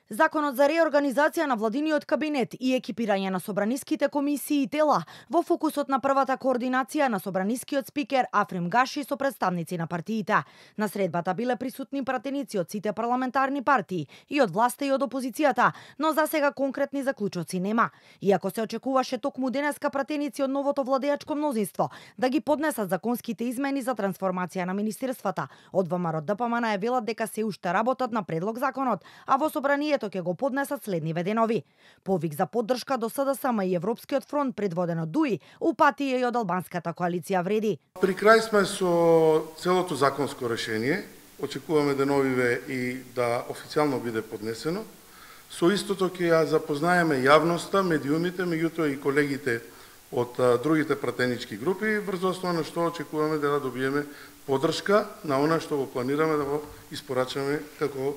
Законот за реорганизација на владиниот кабинет и екипирање на собраниските комисии и тела во фокусот на првата координација на собранискиот спикер Африм Гаши со представници на партиите. На средбата биле присутни пратеници од сите парламентарни партии и од власта и од опозицијата, но за сега конкретни заклучоци нема. Иако се очекуваше токму денеска пратеници од новото владеачко мнозинство да ги поднесат законските измени за трансформација на министерствата, од ВМРО ДПМН е велат дека се уште работат на предлог законот, а во собранието ќе го поднесат следниве денови. Повик за поддршка до СДСМ и Европскиот фронт предводен од ДУИ, упатија и од албанската коалиција вреди. При крај сме со целото законско решение, очекуваме деновиве и да официјално биде поднесено. Со истото ќе ја запознаеме јавноста, медиумите, меѓутоа и колегите од другите пратенички групи, врз основа на што очекуваме да добиеме поддршка на она што го планираме да го испорачаме како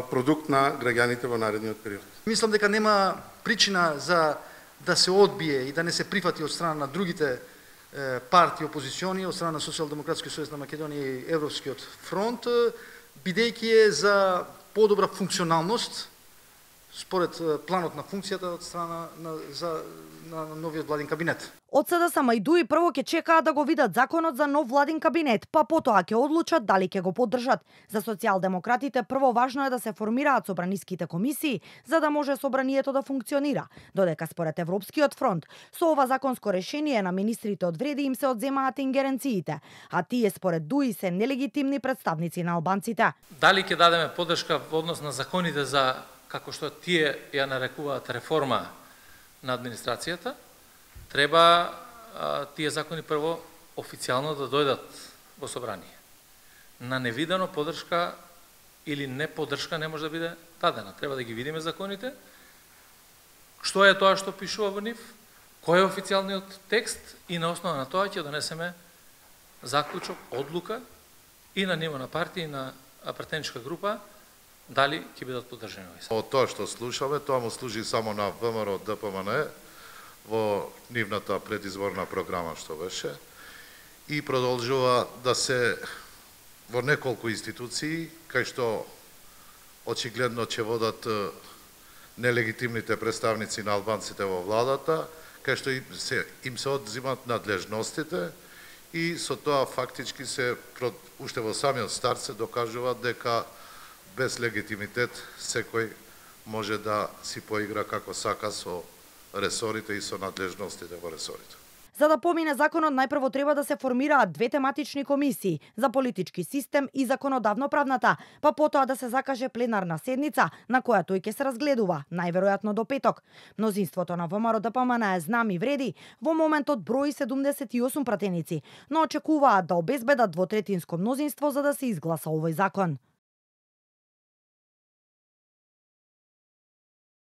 продукт на граѓаните во наредниот период. Мислам дека нема причина за да се одбие и да не се прифати од страна на другите партии опозициони, од страна на Социјалдемократскиот сојуз на Македонија и Европскиот фронт, бидејќи е за подобра функционалност според планот на функцијата од страна на новиот владин кабинет. Од СДСМ и ДУИ прво ќе чекаат да го видат законот за нов владин кабинет, па потоа ќе одлучат дали ќе го поддржат. За социјалдемократите прво важно е да се формираат собраниските комисии за да може собранието да функционира, додека според Европскиот фронт со ова законско решение на министрите од вреди им се одземаат ингеренциите, а тие според ДУИ се нелегитимни представници на албанците. Дали ќе дадеме поддршка во однос на законите за, како што тие ја нарекуваат, реформа на администрацијата, треба тие закони прво официјално да дојдат во собрание. На невидено поддршка или не поддршка не може да биде дадена. Треба да ги видиме законите, што е тоа што пишува во нив, кој е официјалниот текст и на основа на тоа ќе донесеме заклучок, одлука и на ниво на партија и на пратеничка група дали ќе бидат поддржани овие. Од тоа што слушаме, тоа му служи само на ВМРО ДПМН во нивната предизборна програма што беше и продолжува да се во неколку институции кај што очигледно ќе водат нелегитимните представници на албанците во владата, кај што им се одзимат надлежностите и со тоа фактички се уште во самиот старт се докажува дека без легитимитет секој може да си поигра како сака со ресорите и со надлежностите во ресорите. За да помине законот, најпрво треба да се формираат две тематични комисии за политички систем и законодавно-правната, па потоа да се закаже пленарна седница на која тој ќе се разгледува, најверојатно до петок. Мнозинството на ВМРО ДПМН е знам и вреди, во моментот брои 78 пратеници, но очекуваат да обезбедат двотретинско мнозинство за да се изгласа овој закон.